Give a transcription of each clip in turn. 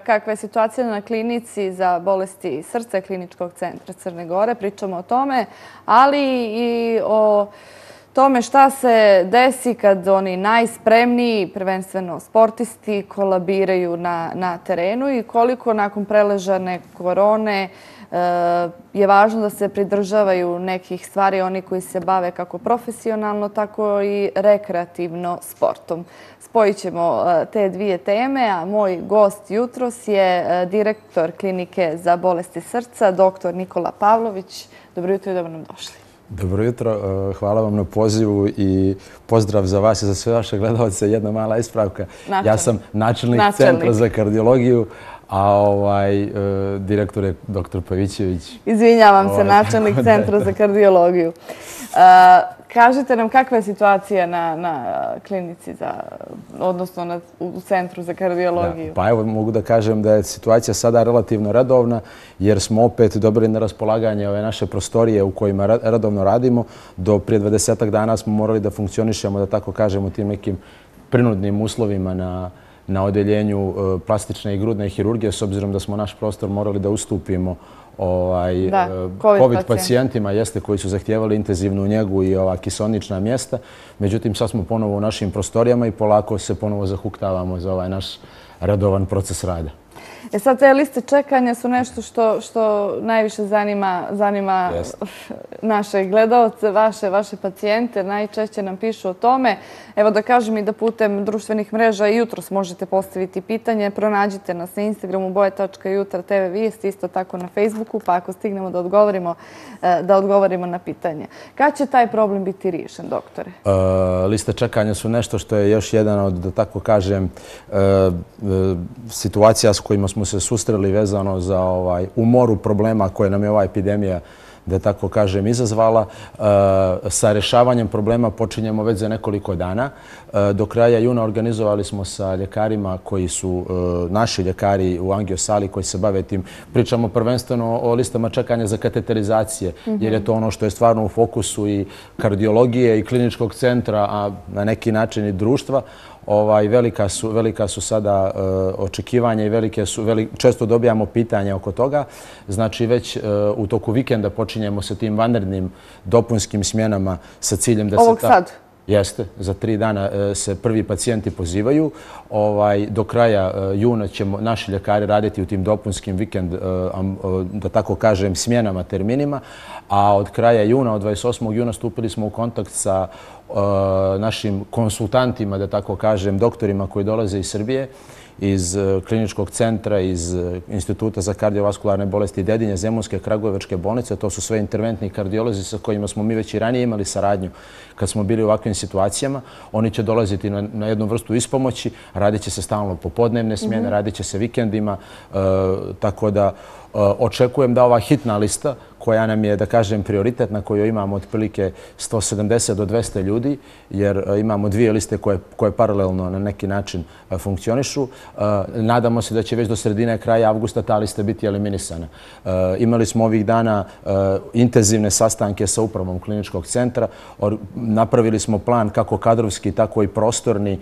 kakva je situacija na klinici za bolesti srca Kliničkog centra Crne Gore. Pričamo o tome, ali i o tome šta se desi kad oni najspremniji, prvenstveno sportisti, kolabiraju na terenu i koliko nakon preležane korone je važno da se pridržavaju nekih stvari oni koji se bave kako profesionalno, tako i rekreativno sportom. Spojit ćemo te dvije teme, a moj gost jutros je direktor Klinike za bolesti srca, dr. Nikola Pavlović. Dobro jutro i dobro nam došli. Dobro jutro, hvala vam na pozivu i pozdrav za vas i za sve vaše gledalce. Jedna mala ispravka. Ja sam načelnik Centra za kardiologiju, a direktor je dr. Pavićević. Izvinjavam se, načelnik Centra za kardiologiju. Kažite nam kakva je situacija na klinici, odnosno u Centru za kardiologiju? Pa evo mogu da kažem da je situacija sada relativno redovna jer smo opet dobili na raspolaganje ove naše prostorije u kojima redovno radimo. Do prije 20 dana smo morali da funkcionišemo, da tako kažemo, tim nekim prinudnim uslovima na odeljenju plastične i grudne hirurgije, s obzirom da smo naš prostor morali da ustupimo COVID pacijentima koji su zahtijevali intenzivnu njegu i kiseonična mjesta. Međutim, sad smo ponovo u našim prostorijama i polako se ponovo zahuktavamo za ovaj naš redovan proces rada. Sad te liste čekanja su nešto što najviše zanima naše gledalce, vaše pacijente. Najčešće nam pišu o tome. Evo da kažem i da putem društvenih mreža i jutros možete postaviti pitanje. Pronađite nas na Instagramu boje.jutra.tv vijest, isto tako na Facebooku, pa ako stignemo da odgovorimo na pitanje. Kad će taj problem biti riješen, doktore? Liste čekanja su nešto što je još jedan od, da tako kažem, situacija s kojima smo se susreli vezano za umoru problema koje nam je ova epidemija, da tako kažem, izazvala. Sa rješavanjem problema počinjemo već za nekoliko dana. Do kraja juna organizovali smo sa ljekarima koji su naši ljekari u angiosali koji se bave tim. Pričamo prvenstveno o listama čekanja za kateterizacije, jer je to ono što je stvarno u fokusu i kardiologije i kliničkog centra, a na neki način i društva. Velika su sada očekivanja i često dobijamo pitanja oko toga. Znači već u toku vikenda počinjemo sa tim vanrednim dopunskim smjenama sa ciljem da se... Ovog sad? Jeste, za 3 dana se prvi pacijenti pozivaju. Do kraja juna će naši ljekari raditi u tim dopunskim vikend, da tako kažem, smjenama, terminima. A od kraja juna, od 28. juna, stupili smo u kontakt sa našim konsultantima, da tako kažem, doktorima koji dolaze iz Srbije, iz kliničkog centra, iz Instituta za kardiovaskularne bolesti Dedinje, Zemunske, Kragujevačke bolnice. To su sve interventni kardiolozi sa kojima smo mi već i ranije imali saradnju kad smo bili u ovakvim situacijama. Oni će dolaziti na jednu vrstu ispomoći, radit će se stalno popodnevne smjene, radit će se vikendima, tako da očekujem da ova hitna lista koja nam je, da kažem, prioritet na kojoj imamo otprilike 170 do 200 ljudi, jer imamo 2 liste koje paralelno na neki način funkcionišu. Nadamo se da će već do sredine kraja avgusta ta lista biti eliminisana. Imali smo ovih dana intenzivne sastanke sa upravom kliničkog centra. Napravili smo plan kako kadrovski, tako i prostorni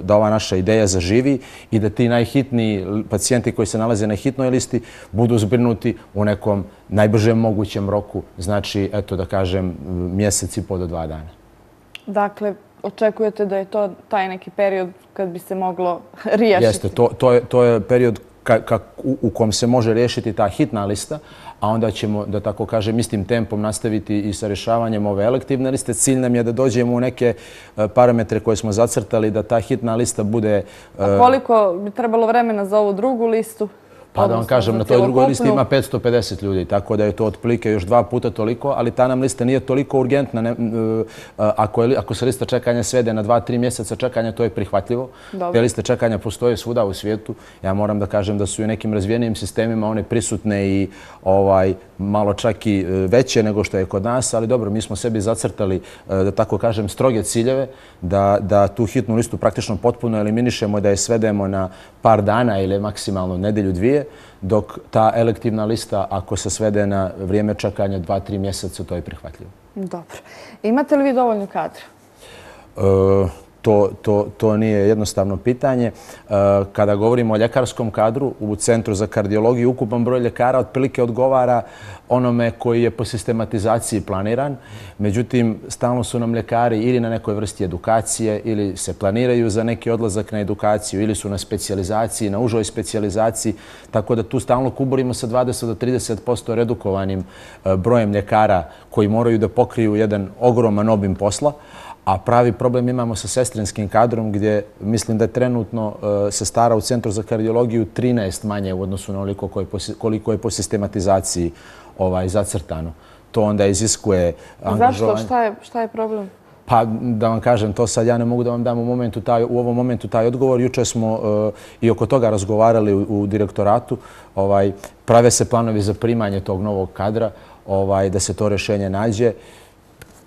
da ova naša ideja zaživi i da ti najhitniji pacijenti koji se nalaze na hitnoj listi budu zbrinuti u nekom najbržem mogućem roku, znači, eto da kažem, mjesec i po do 2 dana. Dakle, očekujete da je to taj neki period kad bi se moglo riješiti? Jeste, to je period u kom se može riješiti ta hitna lista, a onda ćemo, da tako kažem, istim tempom nastaviti i sa rješavanjem ove elektivne liste. Cilj nam je da dođemo u neke parametre koje smo zacrtali, da ta hitna lista bude... A koliko bi trebalo vremena za ovu drugu listu? Pa da vam kažem, na toj drugoj listi ima 550 ljudi, tako da je to otprilike još 2 puta toliko, ali ta nam lista nije toliko urgentna. Ako se lista čekanja svede na 2-3 mjeseca čekanja, to je prihvatljivo. Te liste čekanja postoje svuda u svijetu. Ja moram da kažem da su i nekim razvijenijim sistemima one prisutne i malo čak i veće nego što je kod nas, ali dobro, mi smo sebi zacrtali, da tako kažem, stroge ciljeve, da tu hitnu listu praktično potpuno eliminišemo, da je svedemo na par dana ili maksimalno nedelju, 2, dok ta elektivna lista, ako se svede na vrijeme čekanja 2-3 mjeseca, to je prihvatljivo. Dobro. Imate li vi dovoljno kadra? to nije jednostavno pitanje. Kada govorimo o ljekarskom kadru, u Centru za kardiologiju ukupan broj ljekara otprilike odgovara onome koji je po sistematizaciji planiran. Međutim, stalno su nam ljekari ili na nekoj vrsti edukacije ili se planiraju za neki odlazak na edukaciju ili su na specijalizaciji, na užoj specijalizaciji. Tako da tu stalno kuburimo sa 20 do 30% redukovanim brojem ljekara koji moraju da pokriju jedan ogroman obim posla. A pravi problem imamo sa sestrinskim kadrom gdje mislim da je trenutno sestara u Centru za kardiologiju 13 manje u odnosu na koliko je po sistematizaciji zacrtano. To onda iziskuje angažovanje. Zašto? Šta je problem? Pa da vam kažem, to sad ja ne mogu da vam dam u ovom momentu taj odgovor. Juče smo i oko toga razgovarali u direktoratu. Prave se planovi za primanje tog novog kadra, da se to rješenje nađe.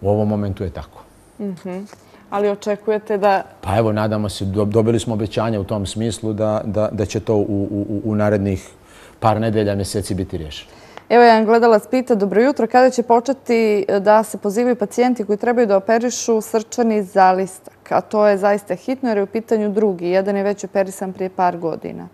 U ovom momentu je tako. Ali očekujete da... Pa evo, nadamo se, dobili smo obećanje u tom smislu da će to u narednih par nedelja, mjeseci biti riješeno. Evo, jedan gledalac pita, dobro jutro, kada će početi da se pozivaju pacijenti koji trebaju da operišu srčani zalistak? A to je zaista hitno jer je u pitanju drugi. Jedan je već operisan prije par godina.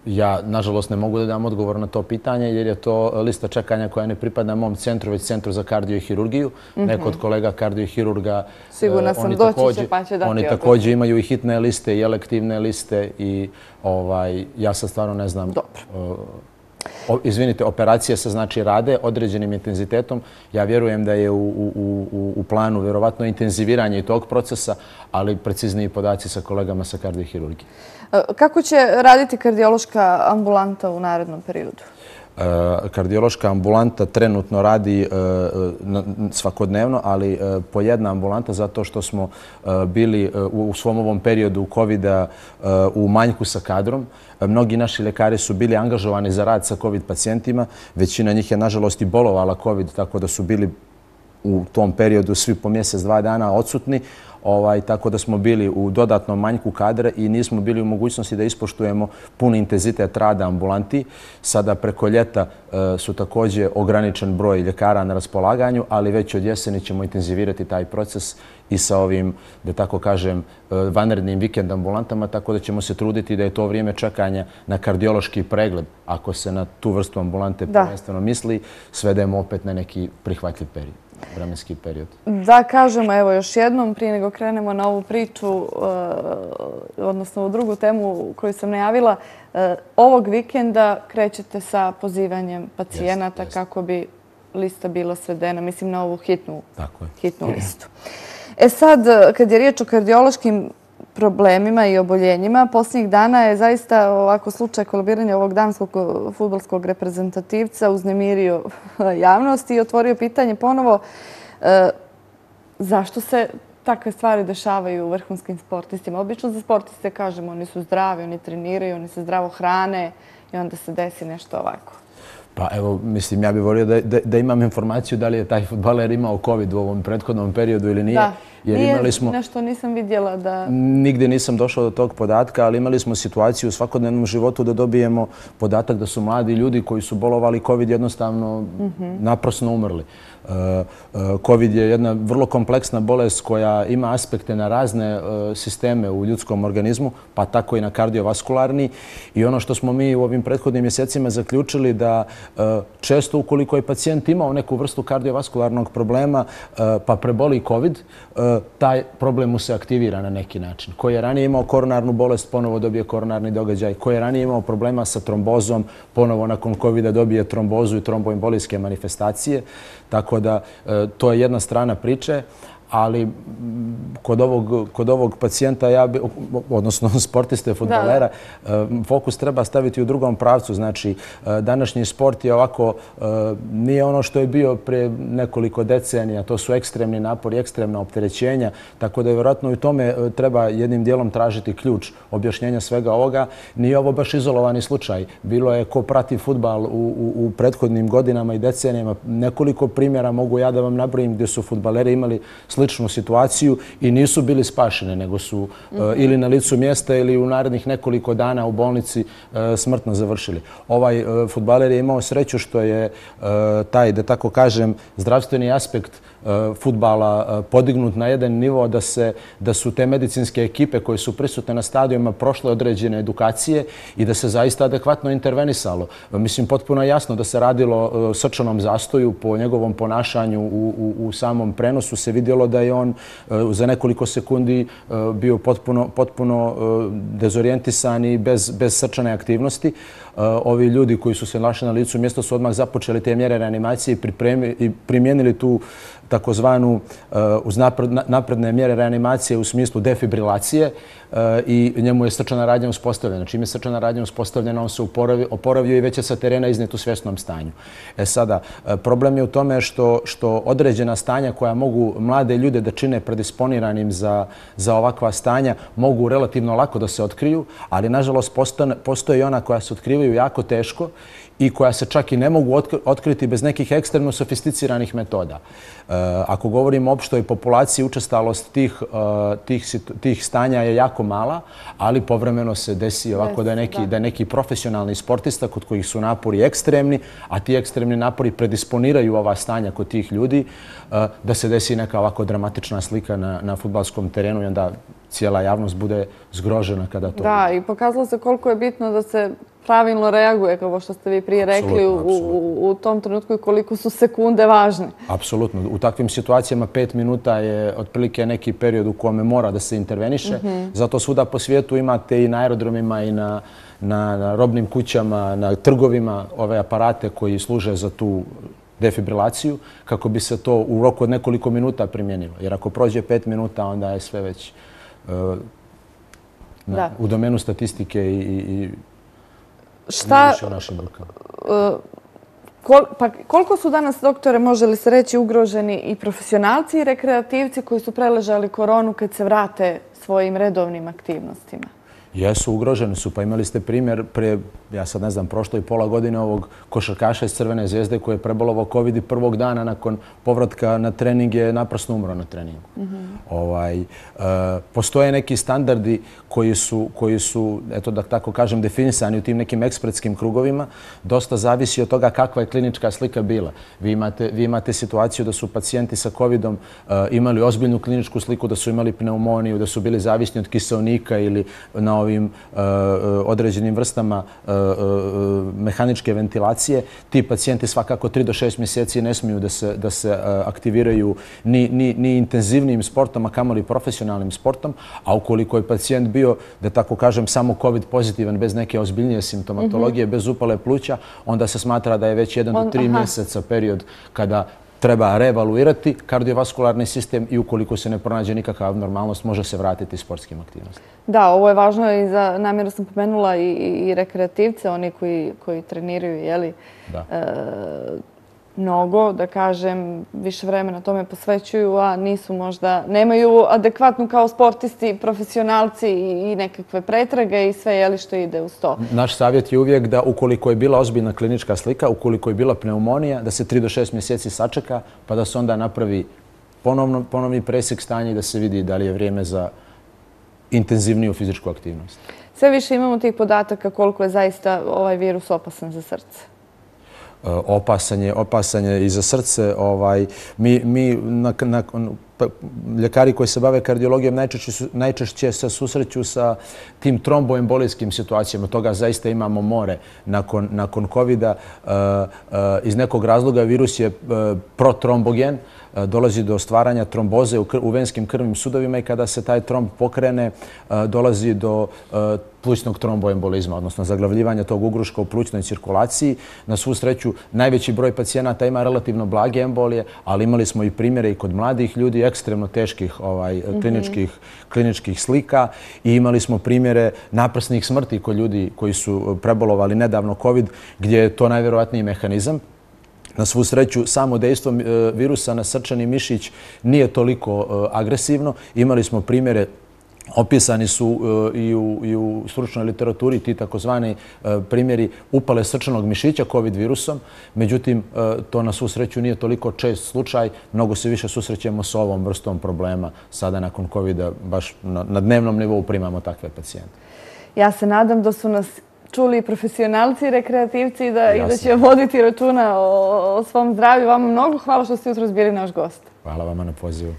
Ja, nažalost, ne mogu da dam odgovor na to pitanje jer je to lista čekanja koja ne pripada mom centru, već Centru za kardio i hirurgiju. Neko od kolega kardio i hirurga, sigurna sam, doći će pa će dati oni također imaju i hitne liste i elektivne liste i ja sad stvarno ne znam. Dobro. Izvinite, operacije se znači rade određenim intenzitetom. Ja vjerujem da je u planu vjerovatno intenziviranje i tog procesa, ali precizniji podaci sa kolegama sa kardiohirurgije. Kako će raditi kardiološka ambulanta u narednom periodu? Kardiološka ambulanta trenutno radi svakodnevno, ali po jedna ambulanta zato što smo bili u svom ovom periodu COVID-a u manjku sa kadrom. Mnogi naši ljekari su bili angažovani za rad sa COVID pacijentima. Većina njih je, nažalost, i bolovala COVID, tako da su bili u tom periodu svi po mjesec, 2 dana odsutni. Tako da smo bili u dodatnom manjku kadra i nismo bili u mogućnosti da ispoštujemo puni intenzitet rada ambulanti. Sada preko ljeta su također ograničen broj ljekara na raspolaganju, ali već od jeseni ćemo intenzivirati taj proces i sa ovim, da tako kažem, vanrednim vikend ambulantama, tako da ćemo se truditi da je to vrijeme čekanja na kardiološki pregled, ako se na tu vrstu ambulante prvenstveno misli, svedemo opet na neki prihvatljiv period. Vremenski period. Da kažemo, evo još jednom, prije nego krenemo na ovu priču, odnosno u drugu temu koju sam najavila, ovog vikenda krećete sa pozivanjem pacijenata kako bi lista bila svedena, mislim na ovu hitnu listu. E sad, kad je riječ o kardiološkim problemima i oboljenjima, posljednjih dana je zaista ovako slučaj kolabiranja ovog danskog fudbalskog reprezentativca uznemirio javnost i otvorio pitanje ponovo zašto se takve stvari dešavaju vrhunskim sportistima. Obično za sportiste kažemo oni su zdravi, oni treniraju, oni se zdravo hrane i onda se desi nešto ovako. Pa evo, mislim, ja bih volio da imam informaciju da li je taj fudbaler imao COVID u ovom prethodnom periodu ili nije. Da, nije nešto nisam vidjela da... Nigdje nisam došao do tog podatka, ali imali smo situaciju u svakodnevnom životu da dobijemo podatak da su mladi ljudi koji su bolovali COVID jednostavno naprasno umrli. COVID je jedna vrlo kompleksna bolest koja ima aspekte na razne sisteme u ljudskom organizmu, pa tako i na kardiovaskularni. I ono što smo mi u ovim prethodnim mjesecima zaključili da često ukoliko je pacijent imao neku vrstu kardiovaskularnog problema pa preboli COVID, taj problem mu se aktivira na neki način. Ko je ranije imao koronarnu bolest, ponovo dobije koronarni događaj. Ko je ranije imao problema sa trombozom, ponovo nakon COVID-a dobije trombozu i tromboembolijske manifestacije. Tako da to je jedna strana priče, ali kod ovog pacijenta, odnosno sportiste, fudbalera, fokus treba staviti u drugom pravcu. Znači, današnji sport je ovako, nije ono što je bio pre nekoliko decenija, to su ekstremni napori, ekstremna opterećenja, tako da je vjerojatno i u tome treba jednim dijelom tražiti ključ objašnjenja svega ovoga. Nije ovo baš izolovani slučaj. Bilo je ko prati fudbal u prethodnim godinama i decenijama. Nekoliko primjera mogu ja da vam nabrojim gdje su fudbaleri imali sličnu situaciju i nisu bili spašene, nego su ili na licu mjesta ili u narednih nekoliko dana u bolnici smrtno završili. Ovaj fudbaler je imao sreću što je taj, da tako kažem, zdravstveni aspekt fudbala podignut na jedan nivo da su te medicinske ekipe koje su prisutne na stadionima prošle određene edukacije i da se zaista adekvatno intervenisalo. Mislim, potpuno je jasno da se radilo o srčanom zastoju. Po njegovom ponašanju u samom prenosu se vidjelo da je on za nekoliko sekundi bio potpuno dezorijentisan i bez srčane aktivnosti. Ovi ljudi koji su se našli na licu mjesta su odmah započeli te mjere reanimacije i primijenili tu takozvanu uz napredne mjere reanimacije u smislu defibrilacije i njemu je srčana radnja uspostavljena. Čim je srčana radnja uspostavljena, on se oporavio i već je sa terena iznet u svjesnom stanju. Sada, problem je u tome što određena stanja koja mogu mlade ljude da čine predisponiranim za ovakva stanja mogu relativno lako da se otkriju, ali nažalost postoje i ona koja se otkrivaju jako teško i koja se čak i ne mogu otkriti bez nekih ekstremno sofisticiranih metoda. Ako govorimo o opštoj populaciji, učestalost tih stanja je jako mala, ali povremeno se desi ovako da je neki profesionalni sportista kod kojih su napori ekstremni, a ti ekstremni napori predisponiraju ova stanja kod tih ljudi, da se desi neka ovako dramatična slika na fudbalskom terenu i onda cijela javnost bude zgrožena kada to vidi. Da, i pokazalo se koliko je bitno da se pravilno reaguje, kao što ste vi prije rekli, u tom trenutku i koliko su sekunde važne. Apsolutno. U takvim situacijama 5 minuta je otprilike neki period u kome mora da se interveniše. Zato svuda po svijetu imate i na aerodromima i na robnim kućama, na trgovima ove aparate koji služe za tu defibrilaciju, kako bi se to u roku od nekoliko minuta primijenilo. Jer ako prođe 5 minuta, onda je sve već u domenu statistike i više u našim rukama. Pa koliko su danas, doktore, može li se reći, ugroženi i profesionalci i rekreativci koji su preležali koronu kad se vrate svojim redovnim aktivnostima? Jesu, ugroženi su. Pa imali ste primjer prije, ja sad ne znam, prošlo i pola godine ovog košarkaša iz Crvene zvezde koji je prebolovao COVID i prvog dana nakon povratka na trening je naprosto umro na treningu. Postoje neki standardi koji su, eto da tako kažem, definisani u tim nekim ekspertskim krugovima. Dosta zavisi od toga kakva je klinička slika bila. Vi imate situaciju da su pacijenti sa COVID-om imali ozbiljnu kliničku sliku, da su imali pneumoniju, da su bili zavisni od kiseonika ili na ovim određenim vrstama mehaničke ventilacije. Ti pacijenti svakako 3 do 6 mjeseci ne smiju da se aktiviraju ni intenzivnijim sportom, a kamoli profesionalnim sportom, a ukoliko je pacijent bio, da tako kažem, samo COVID pozitivan, bez neke ozbiljnije simptomatologije, bez upale pluća, onda se smatra da je već 1 do 3 mjeseca period kada treba reevaluirati kardiovaskularni sistem i ukoliko se ne pronađe nikakva abnormalnost, može se vratiti sportskim aktivnostima. Da, ovo je važno i za, namjerno sam pomenula, i rekreativce, oni koji treniraju, jeli, mnogo, da kažem, više vremena tome posvećuju, a nisu možda, nemaju adekvatnu kao sportisti, profesionalci i nekakve pretrage i sve, jeli, što ide uz to. Naš savjet je uvijek da ukoliko je bila ozbiljna klinička slika, ukoliko je bila pneumonija, da se 3 do 6 mjeseci sačeka, pa da se onda napravi ponovni presjek stanja i da se vidi da li je vrijeme za intenzivniju fizičku aktivnost. Sve više imamo tih podataka koliko je zaista ovaj virus opasan za srce. Opasan je i za srce. Ljekari koji se bave kardiologijom najčešće se susreću sa tim tromboembolijskim situacijama. Toga zaista imamo more nakon COVID-a. Iz nekog razloga virus je protrombogen, dolazi do stvaranja tromboze u venskim krvnim sudovima i kada se taj tromb pokrene, dolazi do plućnog tromboembolizma, odnosno zaglavljivanja tog ugruška u plućnoj cirkulaciji. Na svu sreću, najveći broj pacijenata ima relativno blage embolije, ali imali smo i primjere i kod mladih ljudi ekstremno teških kliničkih slika i imali smo primjere naprsnih smrti kod ljudi koji su prebolovali nedavno COVID, gdje je to najvjerovatniji mehanizam. Na svu sreću, samo dejstvo virusa na srčani mišić nije toliko agresivno. Imali smo primjere, opisani su i u stručnoj literaturi, ti takozvani primjeri upale srčanog mišića COVID virusom. Međutim, to na svu sreću nije toliko čest slučaj. Mnogo se više susrećemo s ovom vrstom problema. Sada nakon COVID-a baš na dnevnom nivou primamo takve pacijente. Ja se nadam da su nas čuli profesionalci i rekreativci i da će voditi računa o svom zdravlju. Vama mnogo hvala što ste jutros bili naš gost. Hvala vama na pozivu.